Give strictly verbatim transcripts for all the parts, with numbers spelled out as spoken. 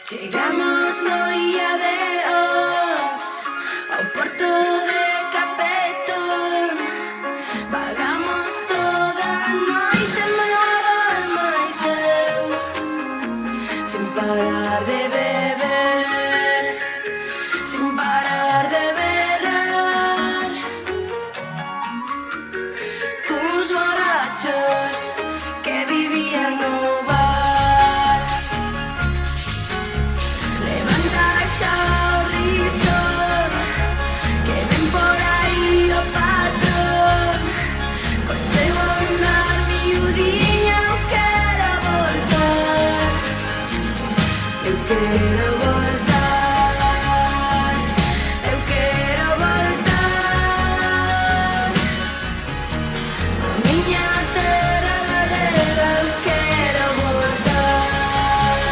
Chegamos no ía de Os ao porto de Capetón. Vagamos toda a noite, Mado e máis eu, sin parar de beber, sin parar de berrar, cuns borrachos que vivían no bar. Levanta xa o risón, que ven por aí o patrón, co seu andar miudiña. Eu quero voltar, eu quero voltar, eu quero voltar a miña terra galega. Eu quero voltar.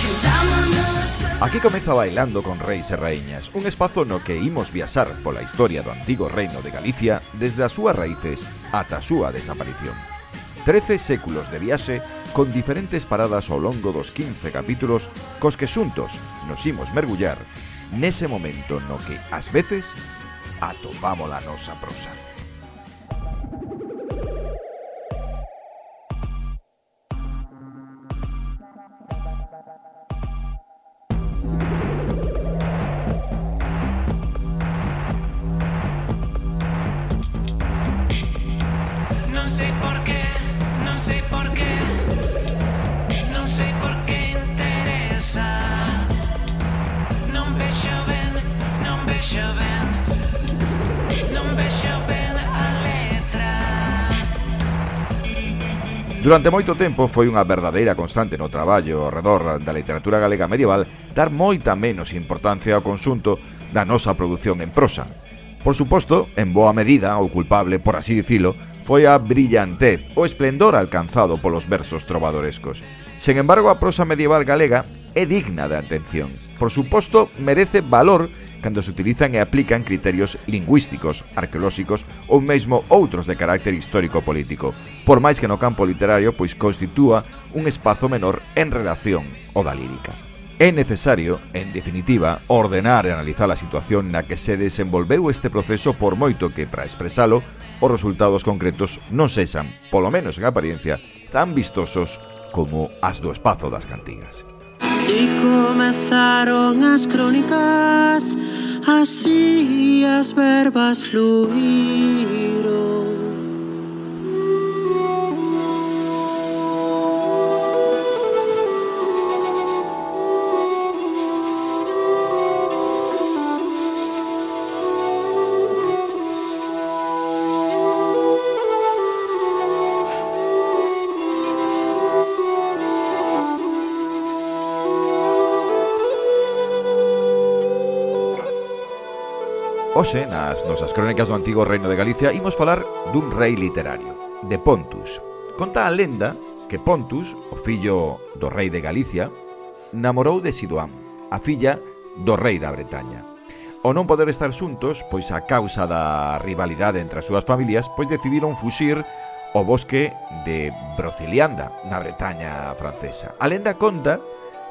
Xuntámonos cos Aquí comeza Bailando con Reis e Raíñas, un espazo no que imos viaxar pola historia do antigo reino de Galicia desde as súas raíces ata a súa desaparición. Trece séculos de viaxe con diferentes paradas ao longo dos quince capítulos cos que xuntos nos imos mergullar nese momento no que, ás veces, atopamos a nosa prosa. Non sei por qué, non sei por qué, non sei por que interesa. Non vexo ben, non vexo ben, non vexo ben a letra. Durante moito tempo foi unha verdadeira constante no traballo ao redor da literatura galega medieval dar moita menos importancia ao conxunto da nosa produción en prosa. Por suposto, en boa medida, o culpable, por así dicilo, foi a brillantez, o esplendor alcanzado polos versos trovadorescos. Sen embargo, a prosa medieval galega é digna de atención. Por suposto, merece valor cando se utilizan e aplican criterios lingüísticos, arqueolóxicos ou mesmo outros de carácter histórico-político, por máis que no campo literario pois constitúa un espazo menor en relación ao da lírica. É necesario, en definitiva, ordenar e analizar a situación na que se desenvolveu este proceso, por moito que, para expresalo, os resultados concretos non sexan, polo menos en apariencia, tan vistosos como as do espazo das cantigas. Si comezaron as crónicas, así as verbas fluíron. Hoxe, nas nosas crónicas do antigo reino de Galicia, imos falar dun rei literario, de Pontus. Conta a lenda que Pontus, o fillo do rei de Galicia, namorou de Sidoam, a filla do rei da Bretaña. Ao non poder estar xuntos, pois a causa da rivalidade entre as súas familias, pois decidiron fuxir ao bosque de Brocilianda, na Bretaña francesa. A lenda conta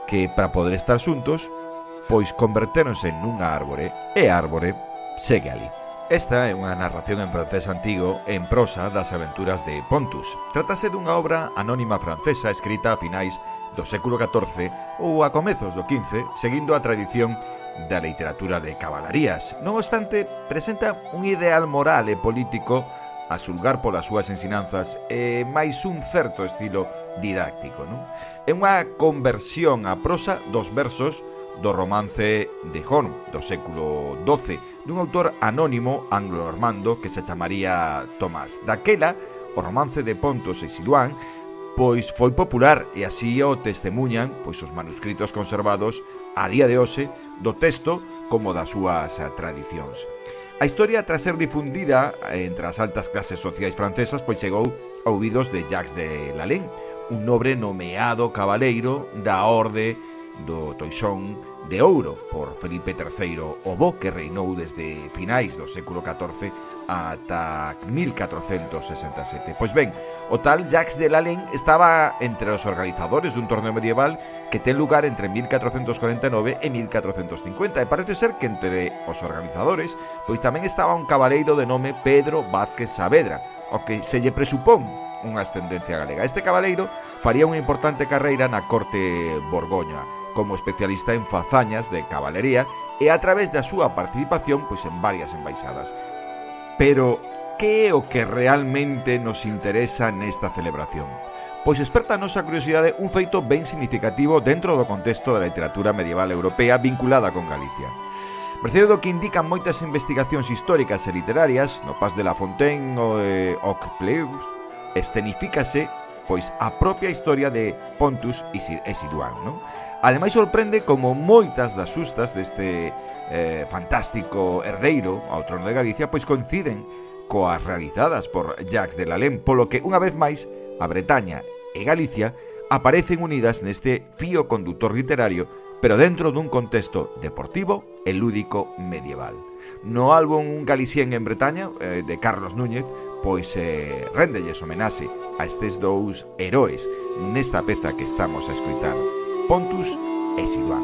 que, para poder estar xuntos, pois convertéronse nunha árbore, e a árbore segue ali. Esta é unha narración en francés antigo en prosa das aventuras de Pontus. Trátase dunha obra anónima francesa escrita a finais do século catorce ou a comezos do quince, seguindo a tradición da literatura de cabalarías. Non obstante, presenta un ideal moral e político a xulgar polas súas ensinanzas e máis un certo estilo didáctico, non? É unha conversión á prosa dos versos do romance de Horn, do século doce, dun autor anónimo anglo-normando que se chamaría Tomás. Daquela, o romance de Pontus e Sidoam pois foi popular e así o testemunhan pois os manuscritos conservados a día de hoxe do texto como das súas tradicións. A historia, tras ser difundida entre as altas clases sociais francesas, pois chegou a ouvidos de Jacques de Lalaing, un nobre nomeado cabaleiro da orde do Toisón de Ouro por Felipe terceiro o Bo, que reinou desde finais do século catorce ata mil catrocentos sesenta e sete. Pois ben, o tal Jacques de Lalande estaba entre os organizadores dun torneo medieval que ten lugar entre mil catrocentos corenta e nove e mil catrocentos cincuenta, e parece ser que entre os organizadores pois tamén estaba un cabaleiro de nome Pedro Vázquez Saavedra, o que se lle presupón unha ascendencia galega. Este cabaleiro faría unha importante carreira na corte borgoña como especialista en fazañas de cabalería e a través da súa participación pois en varias embaixadas. Pero, que é o que realmente nos interesa nesta celebración? Pois esperta a nosa curiosidade un feito ben significativo dentro do contexto da literatura medieval europea vinculada con Galicia. Mercede do que indican moitas investigacións históricas e literarias, no Pas de la Fontaine ou eh, Oc Pleus, escenifícase pois a propia historia de Pontus e Siduán, non? Ademais sorprende como moitas das sustas deste eh, fantástico herdeiro ao trono de Galicia pois coinciden coas realizadas por Jacques de Lalande, polo que unha vez máis a Bretaña e Galicia aparecen unidas neste fío conductor literario, pero dentro dun contexto deportivo e lúdico medieval. No álbum Galicien en Bretaña, eh, de Carlos Núñez, pois eh, réndelles homenaxe a estes dous heróis nesta peza que estamos a escoitar, Pontus e Siduán.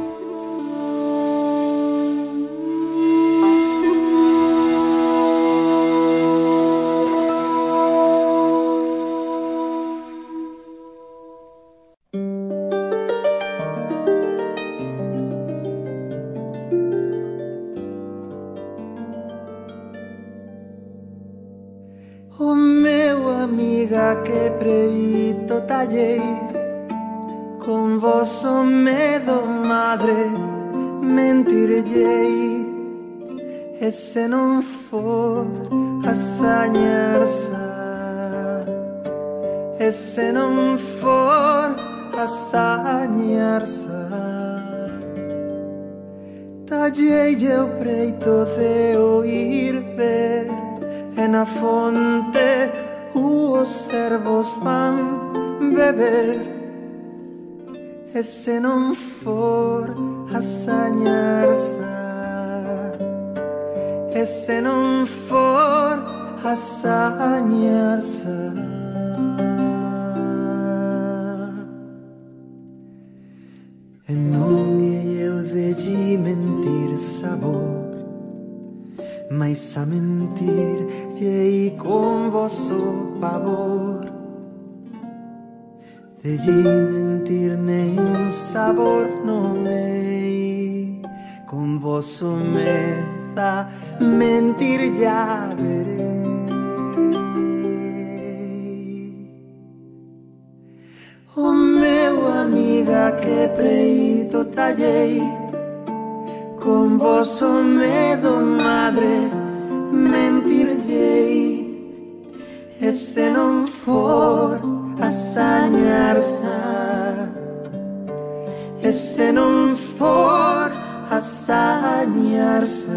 O meu amiga que predito tallei, con vosso medo madre mentirllei, e se non for hasañarsa, e se non for hasañarsa, tallei o preito de oír ver, e na fonte os cervos van beber. E se non for hasañarsa, e se non for hasañarsa, e non é eu de lle mentir sabor, mais a mentir lle con vosso pavor. De lle mentir nen sabor non é, con vosso meda mentir ya verei. O meu amiga que preito tallei, con vosso medo madre mentirllei, e se non for hasañarsa, e se non for hasañarsa.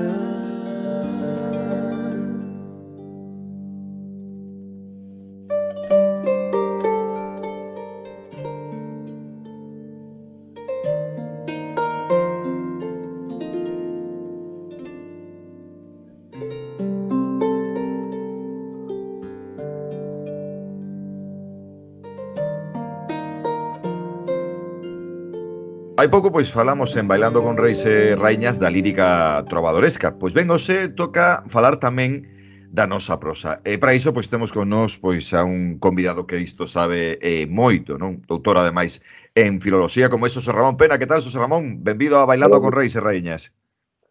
Hai pouco pois falamos en Bailando con Reis e Raíñas da lírica trovadoresca. Pois ben, hoxe toca falar tamén da nosa prosa. E para iso pois temos con nós pois a un convidado que isto sabe eh, moito, non? Doutor ademais en filoloxía como é Xosé Ramón Pena. Que tal, Xosé Ramón? Benvido a Bailando Hola. con Reis e Raíñas.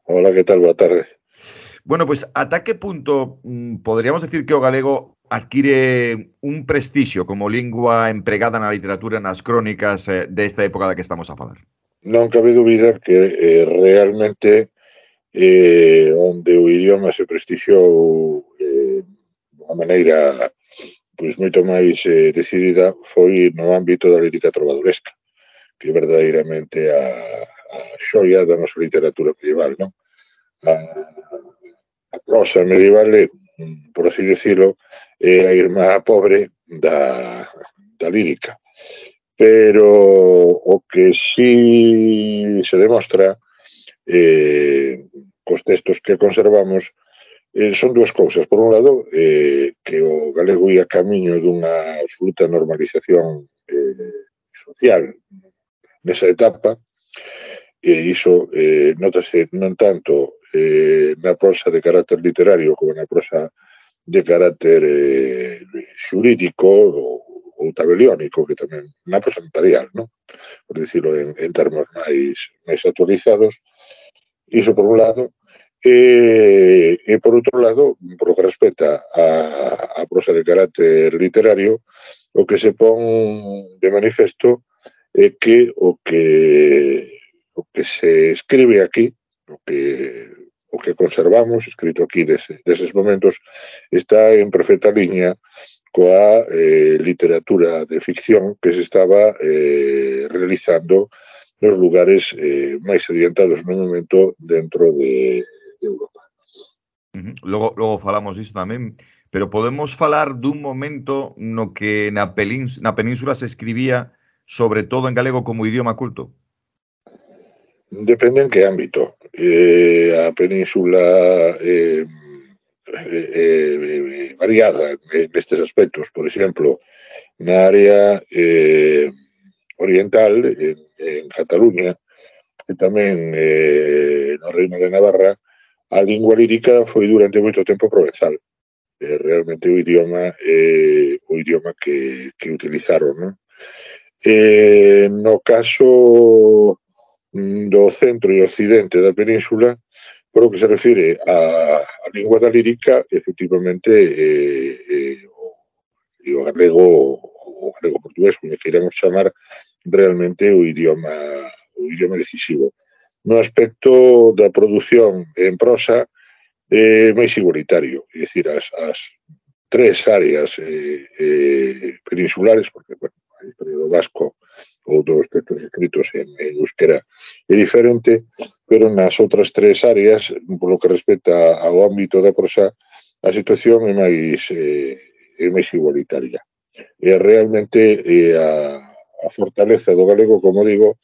Hola, que tal? Boa tarde. Bueno, pois ata que punto mm, poderíamos decir que o galego adquire un prestixio como lingua empregada na literatura, nas crónicas eh, desta época da que estamos a falar? Non cabe dúbida que eh, realmente eh, onde o idioma se prestixiou eh, de unha maneira pois moito máis eh, decidida foi no ámbito da lírica trovadoresca, que é verdadeiramente a, a xoia da nosa literatura medieval, non? A, a prosa medieval é, por así decirlo, é a irmá pobre da, da lírica. Pero o que sí se demostra eh, cos textos que conservamos eh, son dúas cousas. Por un lado, eh, que o galego ia camiño dunha absoluta normalización eh, social nesa etapa, e iso eh, notase non tanto eh, na prosa de carácter literario como na prosa de carácter eh, xurídico ou, ou tabeliónico, que tamén na prosa notarial, non? Por dicirlo en, en termos máis, máis actualizados. Iso por un lado. E, e por outro lado, por lo que respecta a, a prosa de carácter literario, o que se pon de manifesto é que o que o que se escribe aquí, o que o que conservamos escrito aquí dese, deses momentos, está en perfecta liña coa eh, literatura de ficción que se estaba eh, realizando nos lugares eh, máis adiantados no momento dentro de Europa. Uh-huh. Logo, logo falamos disto tamén, pero podemos falar dun momento no que na, pelíns, na península se escribía sobre todo en galego como idioma culto? Depende en que ámbito. Eh, a península eh, eh, eh, variada nestes aspectos. Por exemplo, na área eh, oriental, en, en Cataluña, e tamén eh, no Reino de Navarra, a lingua lírica foi durante moito tempo provenzal. Eh, realmente o idioma eh, o idioma que, que utilizaron, non? Eh, no caso do centro e occidente da península, por o que se refire a, a lingua da lírica, efectivamente eh, eh, o, o galego o galego portugués, como queiramos chamar, realmente o idioma o idioma decisivo. No aspecto da produción en prosa é máis igualitario, é dicir, as, as tres áreas eh, eh, peninsulares, porque, bueno, a historia do vasco ou dos textos escritos en, en euskera é diferente, pero nas outras tres áreas, polo que respecta ao ámbito da prosa, a situación é máis, eh, é máis igualitaria. E realmente eh, a, a fortaleza do galego, como digo,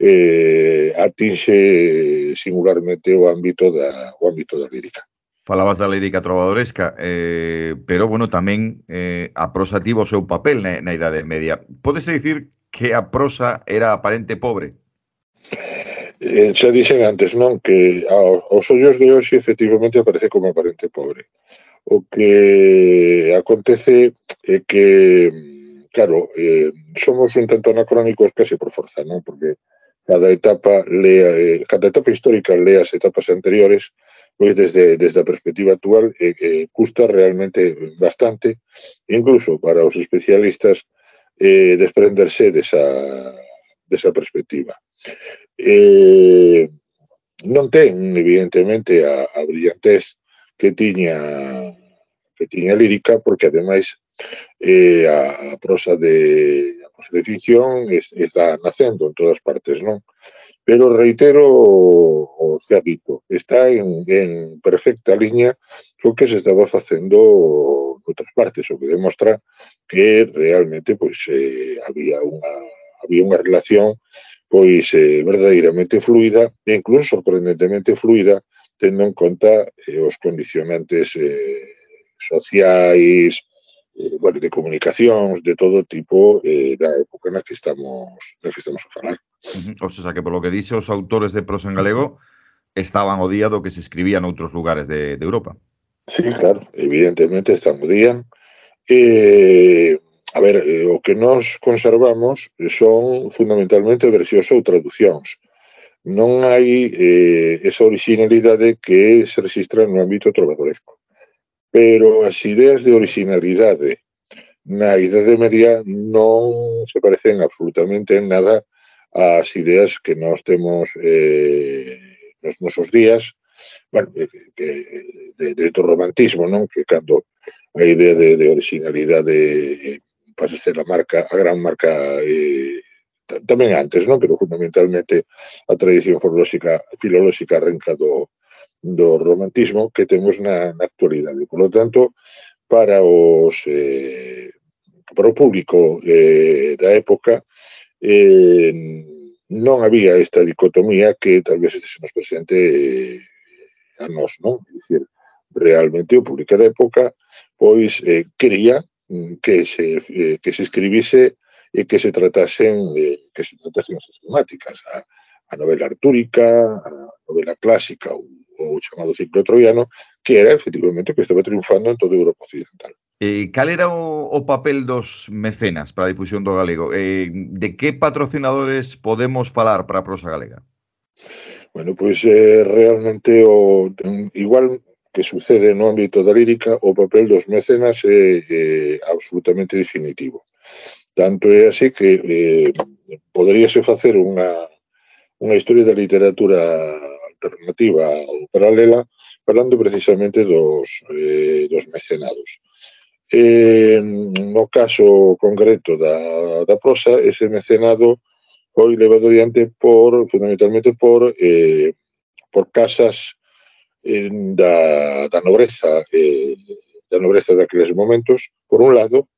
eh, atinxe singularmente o ámbito da, o ámbito da lírica. Falabas da lírica trovadoresca, eh, pero, bueno, tamén eh, a prosa tivo o seu papel na, na Idade Media. Pódese dicir que a prosa era aparente pobre? Eh, xa dixen antes, non? Que aos ollos de hoxe efectivamente aparece como aparente pobre. O que acontece é que, claro, eh, somos un tanto anacrónicos case por forza, non? Porque cada etapa lea, eh, cada etapa histórica lea as etapas anteriores, pois desde, desde a perspectiva actual eh, eh, custa realmente bastante, incluso para os especialistas, eh, desprenderse desa, desa perspectiva. Eh, non ten, evidentemente, a, a brillantez que tiña que tiña lírica, porque ademais eh, a, a prosa de a prosa de ficción es, está nacendo en todas partes, non? Pero reitero o que ha dito, está en, en perfecta liña co que se estaba facendo en outras partes, o que demostra que realmente pois eh, había unha había unha relación pois eh, verdadeiramente fluida e incluso sorprendentemente fluida, tendo en conta eh, os condicionantes eh, sociais, eh, bueno, de comunicacións, de todo tipo eh, da época na que estamos na que estamos a falar. Uh-huh. O sea, que polo que dice os autores de prosa en galego estaban ao día do que se escribía noutros lugares de, de Europa. Sí, claro, evidentemente están ao día. Eh, a ver, eh, o que nos conservamos son fundamentalmente versións ou traducións. Non hai eh, esa originalidade que se registra no ámbito trovadoresco. Pero as ideas de originalidade na Idade Media non se parecen absolutamente en nada ás ideas que nós temos eh, nos nosos días, bueno, que, de, de, do romantismo, non? Que cando a idea de, de originalidade eh, pasa a ser a marca, a gran marca eh, tamén antes, non? Pero fundamentalmente a tradición filolóxica, filolóxica arranca do, do romantismo que temos na, na actualidade. Por lo tanto, para os eh, para o público eh, da época eh, non había esta dicotomía que tal vez se nos presente eh, a nós, non? É dicir, realmente o público da época pois eh, quería que se, eh, que se escribise e que se tratasen eh, que se tratasen as temáticas, a, a novela artúrica, a novela clásica, o, o chamado ciclo troiano, que era efectivamente que estaba triunfando en toda a Europa occidental. Eh, cal era o, o papel dos mecenas para a difusión do galego? Eh, de que patrocinadores podemos falar para a prosa galega? Bueno, pois eh, realmente o, igual que sucede no ámbito da lírica, o papel dos mecenas é eh, absolutamente definitivo. Tanto é así que eh, poderíase facer unha, unha historia da literatura alternativa ou paralela falando precisamente dos, eh, dos mecenados. Eh, no caso concreto da, da prosa, ese mecenado foi levado adiante por, fundamentalmente por, eh, por casas eh, da, da nobreza eh, da nobreza daqueles momentos, por un lado,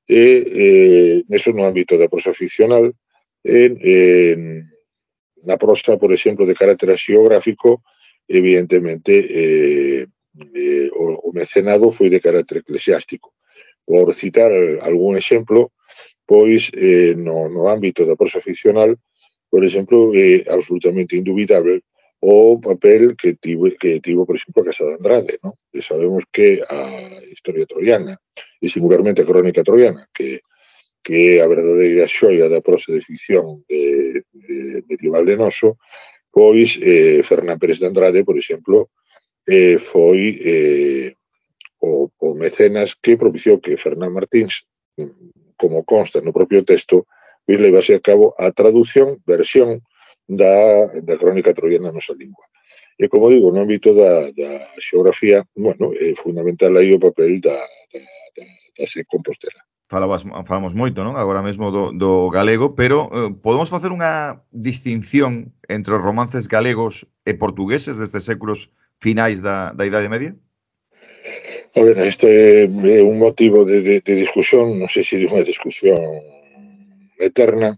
e eh, neso no ámbito da prosa ficcional, en, en, na prosa, por exemplo, de carácter xeográfico, evidentemente, eh, eh, o, o mecenado foi de carácter eclesiástico. Por citar algún exemplo, pois eh, no, no ámbito da prosa ficcional, por exemplo, é eh, absolutamente indubitable o papel que tivo, que tivo, por exemplo, a Casa de Andrade, ¿no? E sabemos que a historia troiana, e singularmente a crónica troiana, que, que é a verdadeira xoia da prosa de ficción de, de medieval de noso, pois eh, Fernán Pérez de Andrade, por exemplo, eh, foi eh, o, o mecenas que propiciou que Fernán Martins, como consta no propio texto, pois levase a cabo a traducción, versión da, da crónica troiana na nosa lingua. E, como digo, no ámbito da, da xeografía, bueno, é fundamental aí o papel da, da, da, da se Compostela. Falabas, falamos moito, non? Agora mesmo do, do galego, pero eh, podemos facer unha distinción entre os romances galegos e portugueses desde séculos finais da, da Idade Media? A ver, este é un motivo de, de, de discusión, non sei se de unha discusión eterna,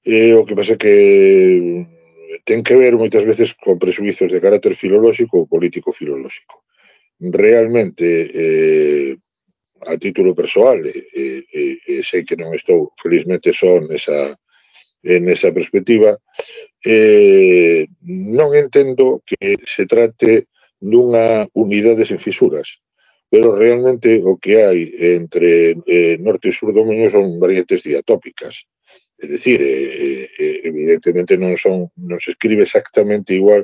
e o que pasa que ten que ver moitas veces con presuizos de carácter filolóxico ou político-filolóxico. Realmente, eh, a título persoal, e, e, e sei que non estou felizmente só nesa, nesa perspectiva, eh, non entendo que se trate dunha unidade sen fisuras, pero realmente o que hai entre eh, norte e sur do Miño son variantes diatópicas. É dicir, eh, eh, evidentemente non son, non se escribe exactamente igual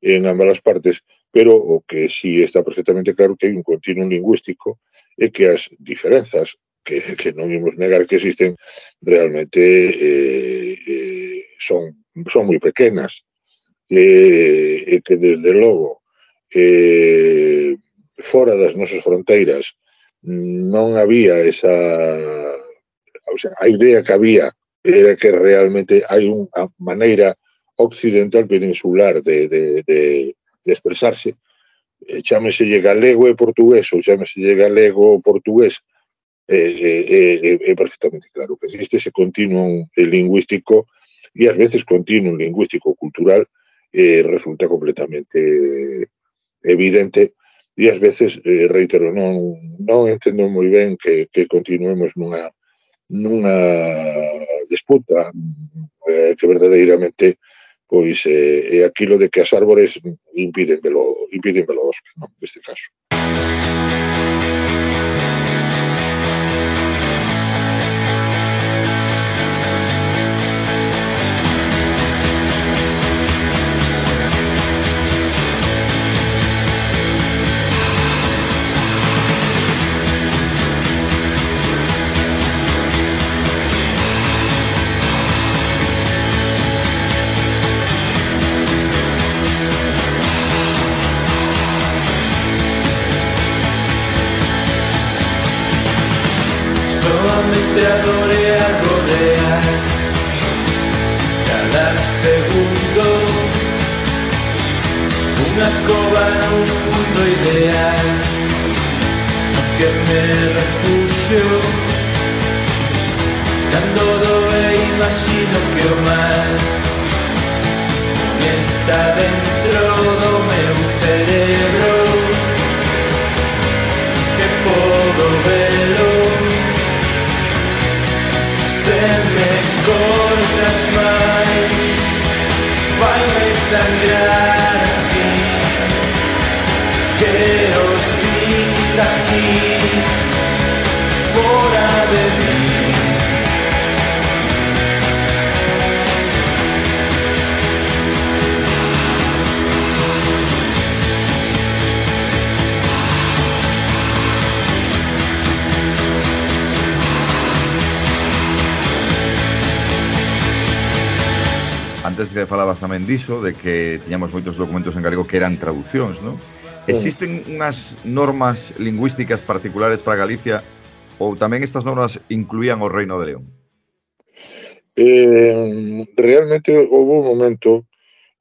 en ambas as partes, pero o que sí está perfectamente claro que hai un continuum lingüístico e que as diferenzas, que, que non imos negar que existen, realmente eh, eh, son, son moi pequenas, e, e que desde logo eh, fora das nosas fronteiras non había esa, o sea, a idea que había era que realmente hai unha maneira occidental peninsular de, de, de, de expresarse, eh, chámeselle galego e portugués ou chámeselle galego ou portugués, é eh, eh, eh, perfectamente claro que existe ese continuum lingüístico e ás veces continuum lingüístico cultural eh, resulta completamente evidente e ás veces, eh, reitero, non, non entendo moi ben que, que continuemos nunha nunha disputa eh, que verdadeiramente pois eh, é aquilo de que as árbores impiden velo, impiden velo bosque, non? Neste caso. Solamente adoré a rodear cada segundo unha cova nun mundo ideal no que me refugio cando doe imagino que o mal está dentro do meu cerebro se me cortas máis, faime sangrar así. Quero sinta aquí, fora de mí. Antes que falabas tamén diso, de que tiñamos moitos documentos en galego que eran traducións, non? Existen unhas normas lingüísticas particulares para Galicia ou tamén estas normas incluían o Reino de León? Eh, realmente houve un momento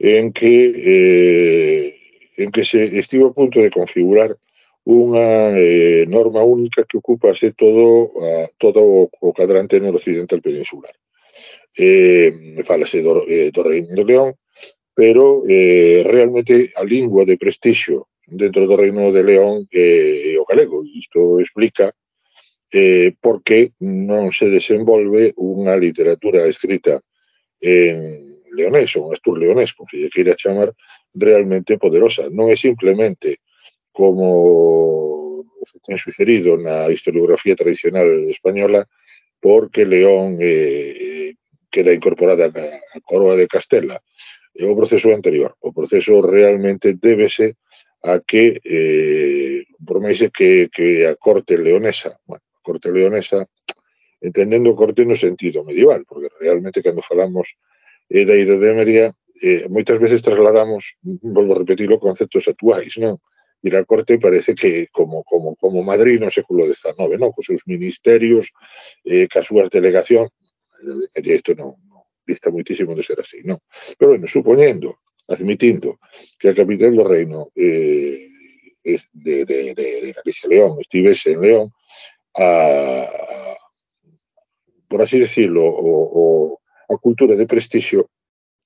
en que eh, en que se estivo a punto de configurar unha eh, norma única que ocupase todo, a, todo o, o cadrante noroccidental peninsular. Eh, falase do, eh, do Reino de León, pero eh, realmente a lingua de prestixio dentro do Reino de León é eh, o galego. Isto explica eh, por que non se desenvolve unha literatura escrita en leonés, ou un astur leonés, como se lle queira chamar, realmente poderosa. Non é simplemente como se ten sucedido na historiografía tradicional española, porque León eh, queda incorporada a coroa de Castela. O proceso anterior. O proceso realmente débese a que, eh, por máis que, que a corte leonesa, bueno, a corte leonesa, entendendo a corte no sentido medieval, porque realmente cando falamos eh, da Idade Media, eh, moitas veces trasladamos, volvo a repetir, os conceptos actuais, non? E a corte parece que como, como, como Madrid no século dezanove, non? Cos seus ministerios, eh, cas súas delegacións, e isto non, non dista moitísimo de ser así, non? Pero, bueno, supoñendo, admitindo que a capital do reino eh, de, de, de, de Galicia León estivese en León, a, por así decirlo, o, o, a cultura de prestixio,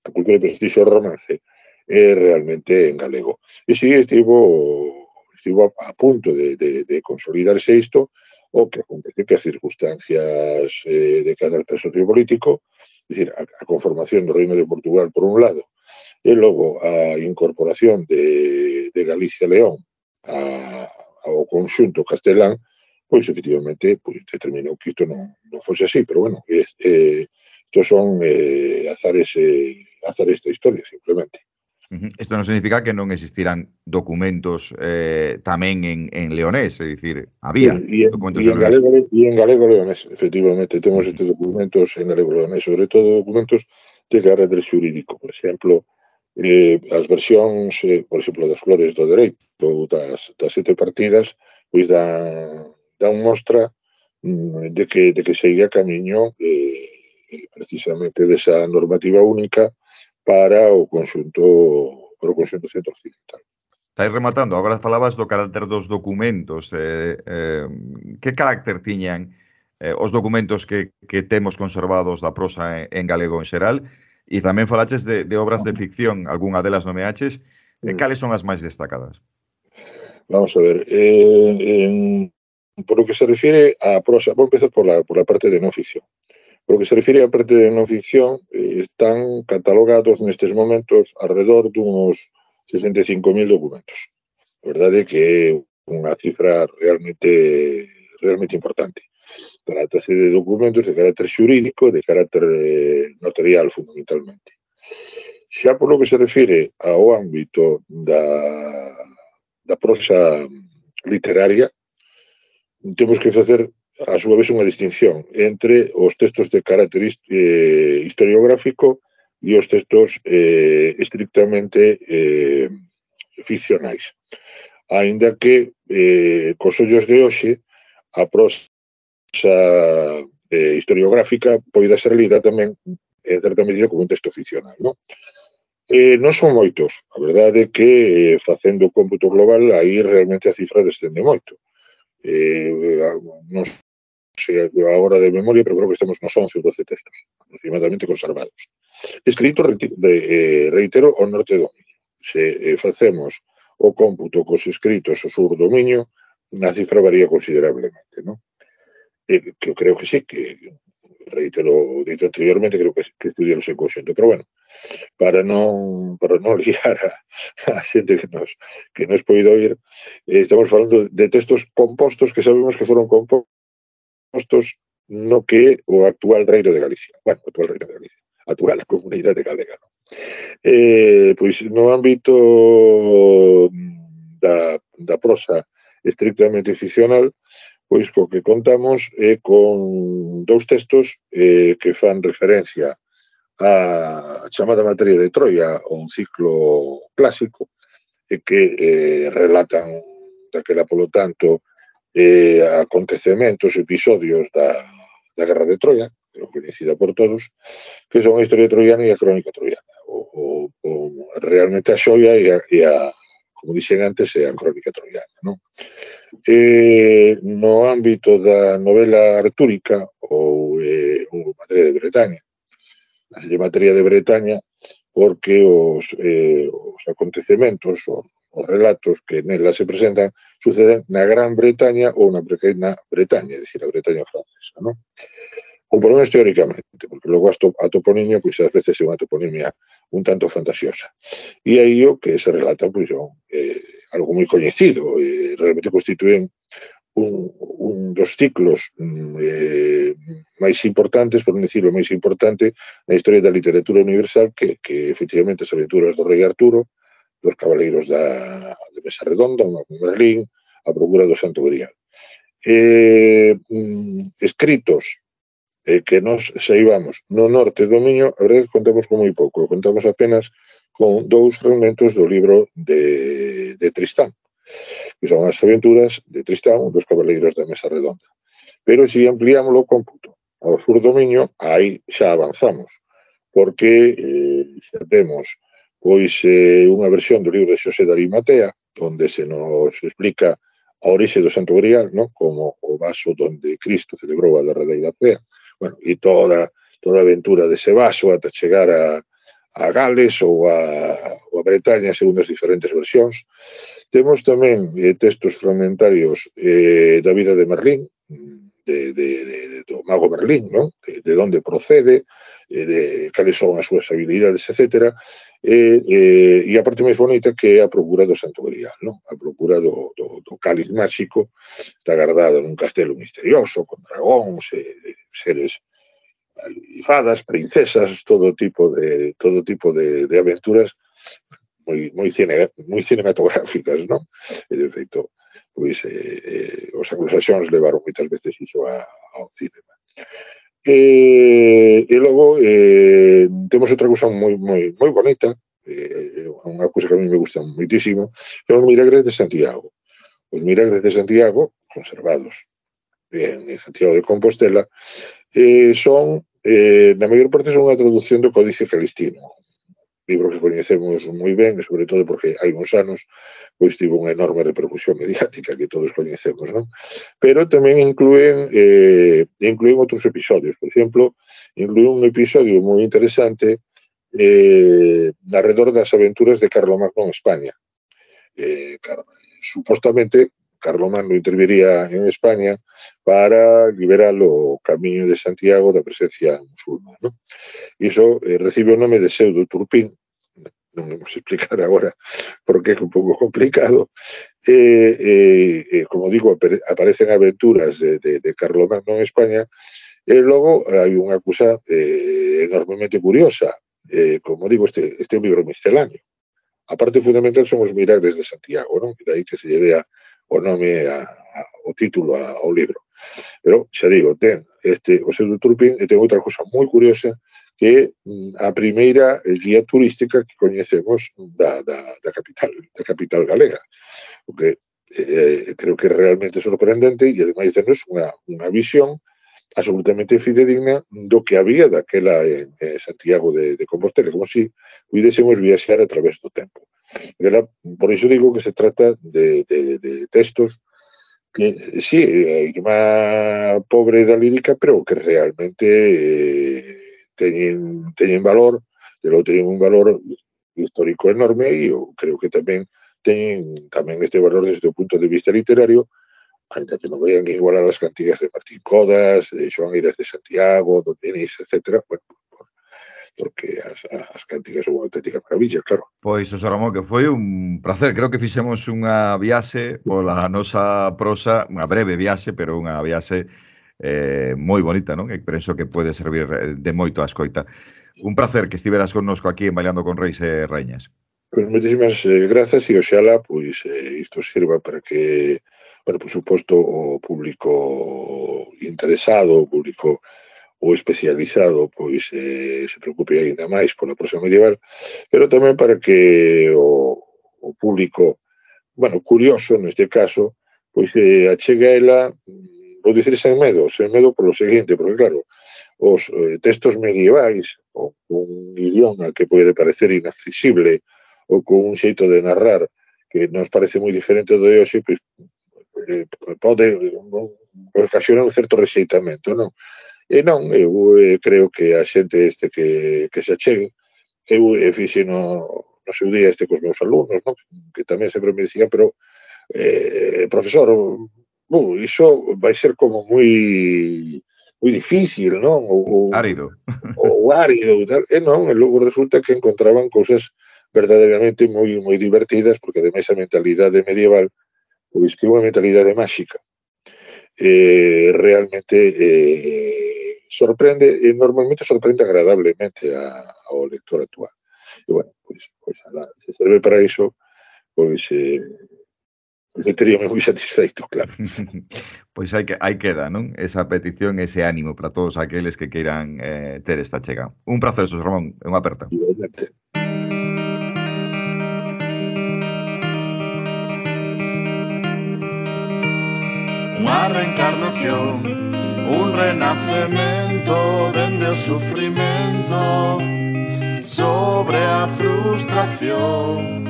a cultura de prestixio romance, é realmente en galego. E si estivo, estivo a, a punto de, de, de consolidarse isto, o que acontece que as circunstancias eh, de carácter sociopolítico, é dicir, a, a conformación do Reino de Portugal por un lado, e logo a incorporación de, de Galicia León a, ao conxunto castelán, pois efectivamente pois, determinou que isto non, non fose así, pero bueno, eh, estos son eh, azares, eh, azares da historia, simplemente. Isto non significa que non existiran documentos eh, tamén en, en leonés, é dicir, había e, documentos e en, en galego, e en galego leonés, efectivamente, temos estes documentos en galego leonés, sobre todo documentos de carácter xurídico, por exemplo, eh, as versións, eh, por exemplo, das flores do dereito ou das, das sete partidas, pois dan, dan mostra mm, de que, de que seguía camiño eh, precisamente desa normativa única para o conxunto para o conxunto centro-occidental. Estáis rematando, agora falabas do carácter dos documentos. Eh, eh, que carácter tiñan eh, os documentos que, que temos conservados da prosa en, en galego en xeral? E tamén falaches de, de obras de ficción, algunha delas nomeaches. Eh, cales son as máis destacadas? Vamos a ver, eh, en, por lo que se refiere a prosa, vou empezar por la, por la parte de non ficción. Por lo que se refiere á parte de non ficción, eh, están catalogados nestes momentos alrededor dunos sesenta e cinco mil documentos. A verdade é que é unha cifra realmente realmente importante. Trátase de documentos de carácter xurídico e de carácter eh, notarial, fundamentalmente. Xa por lo que se refire ao ámbito da, da prosa literaria, temos que facer a súa vez unha distinción entre os textos de carácter eh, historiográfico e os textos eh, estrictamente eh, ficcionais. Ainda que eh, cos ollos de hoxe a prosa eh, historiográfica poida ser lida tamén en certa medida como un texto ficcional, non? Eh, non son moitos, a verdade é que eh, facendo o cómputo global aí realmente a cifra descende moito. Eh, non sei agora de memoria, pero creo que estamos nos once ou doce textos aproximadamente conservados. Escrito, de, eh, reitero, ao norte do dominio. Se eh, facemos o cómputo cos escritos ao sur do dominio, a cifra varía considerablemente, non? Eh, que eu creo que sí, que reitero dito anteriormente, creo que, que estudiamos en conxunto, pero bueno, para non para non liar a, a xente que nos que nos poido oír, eh, estamos falando de textos compostos que sabemos que foron compostos no que o actual Reino de Galicia. Bueno, o actual Reino de Galicia, a actual comunidade galega, non? Eh, pois no ámbito da, da prosa estrictamente ficcional, pois co que contamos é con dous textos eh, que fan referencia a chamada materia de Troia, un ciclo clásico, e que eh, relatan daquela, polo tanto, eh, acontecementos, episodios da, da Guerra de Troia, que é coñecida por todos, que son a historia troiana e a crónica troiana. O, o, o, realmente a xoia e a, e a, como dixen antes, é a crónica troiana, non? Eh, no ámbito da novela artúrica ou, eh, ou materia de Bretaña, a materia de Bretaña porque os, eh, os acontecementos, os, os relatos que nela se presentan suceden na Gran Bretaña ou na pequena Bretaña, é dicir, a Bretaña francesa, non? Ou por menos teóricamente, porque logo a toponimia, pois ás veces é unha toponimia un tanto fantasiosa. E aí o que se relata, pois, son eh, algo moi coñecido, e realmente constituen un, un dos ciclos eh, máis importantes, por non dicirlo máis importante, na historia da literatura universal, que, que efectivamente as aventuras do rei Arturo, dos cabaleiros da, de Mesa Redonda, o Mago Merlín, a procura do Santo Grial. Eh, mm, escritos eh, que nos saibamos no norte do Miño, a verdade é que contamos con moi pouco, contamos apenas con dous fragmentos do libro de, de Tristán, que son as aventuras de Tristán, dos cabaleiros da Mesa Redonda. Pero se ampliamos o cómputo ao sur do Miño, aí xa avanzamos, porque eh, xa temos pois eh, unha versión do libro de Xosé de Arimatea, onde se nos explica a orixe do Santo Grial, ¿no? Como o vaso donde Cristo celebrou a derradeira cea, bueno, e toda, toda a aventura dese vaso ata chegar a, a Gales ou a, ou a Bretaña, segundo as diferentes versións. Temos tamén eh, textos fragmentarios eh, da vida de Merlín, de, de, de, do Mago Merlín, ¿no? De, de onde procede, eh, de cales son as súas habilidades, etcétera. E, eh, e a parte máis bonita que é a procura do Santo Grial, ¿no? A procura do, do, do cáliz máxico, está guardado nun castelo misterioso, con dragóns, eh, seres e fadas, princesas, todo tipo de todo tipo de, de aventuras moi moi cine, moi cinematográficas, non? E de feito, pois eh, eh, os anglosaxóns levaron moitas veces iso a, ao cinema. E, e logo eh, temos outra cousa moi moi moi bonita, eh, unha cousa que a mí me gusta moitísimo, que son os milagres de Santiago. Os milagres de Santiago, conservados en Santiago de Compostela, eh, son, eh, na maior parte, son unha traducción do Códice Calistino, libro que coñecemos moi ben, e sobre todo porque hai uns anos pois tivo unha enorme repercusión mediática que todos coñecemos, non? Pero tamén incluen eh, incluen outros episodios. Por exemplo, incluen un episodio moi interesante eh, alrededor das aventuras de Carlomagno en España. Eh, supostamente, Carlomagno interviría en España para liberar o camiño de Santiago da presencia musulmana, non? Iso eh, recibe o nome de Pseudo Turpín, non vamos a explicar agora porque é un pouco complicado, e, e, e como digo, aparecen aventuras de, de, de Carlomagno en España, e logo hai unha cousa eh, enormemente curiosa, eh, como digo, este, este é un libro misceláneo. A parte fundamental son os milagres de Santiago, non? E dai que se lle dea o nome, a, a, o título a, ao libro. Pero, xa digo, ten este, o Pseudo Turpín, e ten outra cousa moi curiosa, que é a primeira guía turística que coñecemos da, da, da capital, da capital galega. O que eh, creo que é realmente sorprendente, e ademais tenos unha, unha visión absolutamente fidedigna do que había daquela en, en Santiago de, de Compostela, como si puidésemos viaxar a través do tempo. Era, por iso digo que se trata de, de, de textos que, sí, a irmá pobre da lírica, pero que realmente eh, teñen, teñen valor, de lo teñen un valor histórico enorme, e eu creo que tamén teñen tamén este valor desde o punto de vista literario, ainda que non vayan igualar as cantigas de Martín Codas, de Xoán Eiras de Santiago, do Denis, etcétera, bueno, porque as, as cantigas son unha auténtica maravilla, claro. Pois, Xosé Ramón, que foi un placer. Creo que fixemos unha viaxe pola nosa prosa, unha breve viaxe, pero unha viaxe eh, moi bonita, non? E penso que pode servir de moito a escoita. Un placer que estiveras connosco aquí en Bailando con Reis e Raíñas. Pois moitísimas eh, grazas e oxala, pois, eh, isto sirva para que, bueno, por suposto, o público interesado, o público ou especializado, pois eh, se preocupe ainda máis pola prosa medieval, pero tamén para que o, o público, bueno, curioso neste caso, pois eh, achegue a ela, vou dicir sen medo, sen medo polo seguinte, porque claro, os eh, textos medievais, ou un idioma que pode parecer inaccesible, ou con un xeito de narrar que nos parece moi diferente do de hoxe, pois eh, pode ocasionar un certo rexeitamento, non? E non, eu eh, creo que a xente este que, que se achegue, eu eh, fixe no, no seu día este cos meus alumnos, non? Que tamén sempre me dicían, pero eh, profesor, uh, iso vai ser como moi moi difícil, non? Ou, árido. Ou árido, e tal. E non, e logo resulta que encontraban cousas verdadeiramente moi moi divertidas, porque ademais a mentalidade medieval, pois que é unha mentalidade máxica. Eh, realmente eh, sorprende, e normalmente sorprende agradablemente a, ao lector actual. E, bueno, pois, pois ala, se serve para iso, pois, eh, pois eu teríame moi satisfeito, claro. Pois hai que hai queda, non? Esa petición, ese ánimo para todos aqueles que queiran eh, ter esta chega. Un prazer, Xosé Ramón, unha aperta. Igualmente. Unha reencarnación, un renacemento dende o sufrimento sobre a frustración.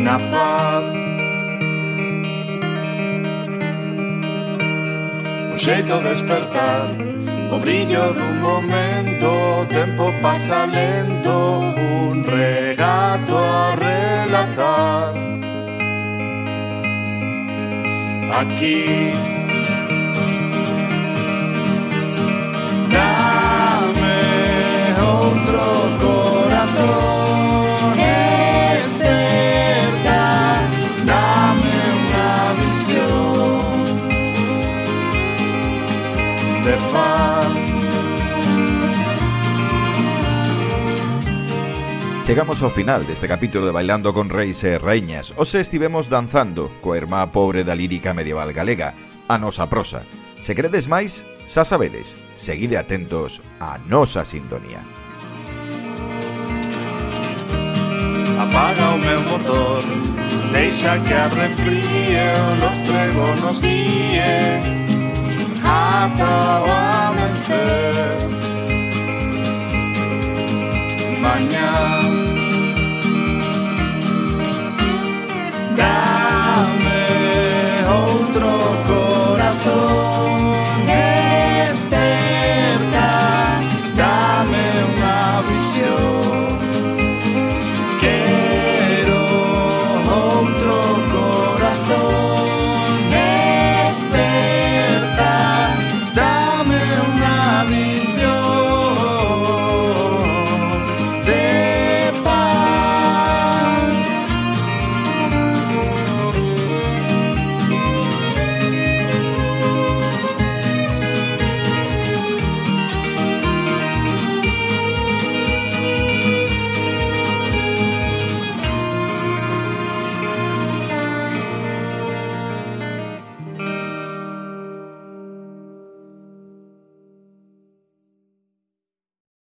Na paz, un xeito de despertar, o brillo dun momento, o tempo pasa lento, un regato a relatar. Aquí dame outro corazón, desperta, dame unha visión de paz. Chegamos ao final deste capítulo de Bailando con Reis e Raíñas. Hoxe estivemos danzando coa irmá pobre da lírica medieval galega, a nosa prosa. Se queredes máis, xa sabedes, seguide atentos á nosa sintonía. Apaga o meu motor, deixa que arrefríe, o lostrego nos guíe ata